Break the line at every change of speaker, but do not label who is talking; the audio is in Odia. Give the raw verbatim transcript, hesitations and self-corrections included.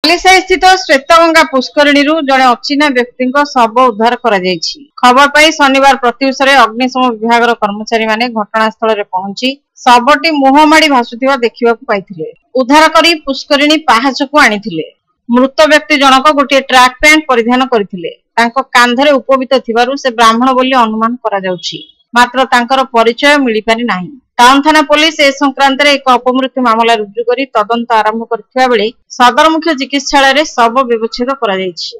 ବାଲିସାହିସ୍ଥିତ ଶ୍ୱେତଗଙ୍ଗା ପୁଷ୍କରିଣୀରୁ ଜଣେ ଅଚିହ୍ନା ବ୍ୟକ୍ତିଙ୍କ ଶବ ଉଦ୍ଧାର କରାଯାଇଛି। ଖବର ପାଇ ଶନିବାର ପ୍ରତ୍ୟୁଷରେ ଅଗ୍ନିଶମ ବିଭାଗର କର୍ମଚାରୀମାନେ ଘଟଣାସ୍ଥଳରେ ପହଞ୍ଚି ଶବଟି ମୁହଁ ମାଡ଼ି ଭାସୁଥିବା ଦେଖିବାକୁ ପାଇଥିଲେ। ଉଦ୍ଧାର କରି ପୁଷ୍କରିଣୀ ପାହାଚକୁ ଆଣିଥିଲେ। ମୃତ ବ୍ୟକ୍ତି ଜଣକ ଗୋଟିଏ ଟ୍ରାକ୍ ପ୍ୟାଣ୍ଟ ପରିଧାନ କରିଥିଲେ। ତାଙ୍କ କାନ୍ଧରେ ଉପବୀତ ଥିବାରୁ ସେ ବ୍ରାହ୍ମଣ ବୋଲି ଅନୁମାନ କରାଯାଉଛି। ମାତ୍ର ତାଙ୍କର ପରିଚୟ ମିଳିପାରି ନାହିଁ। ଟାଉନ ଥାନା ପୋଲିସ ଏ ସଂକ୍ରାନ୍ତରେ ଏକ ଅପମୃତ୍ୟୁ ମାମଲା ରୁଜୁ କରି ତଦନ୍ତ ଆରମ୍ଭ କରିଥିବା ବେଳେ ସଦର ମୁଖ୍ୟ ଚିକିତ୍ସାଳୟରେ ଶବ ବ୍ୟବଚ୍ଛେଦ କରାଯାଇଛି।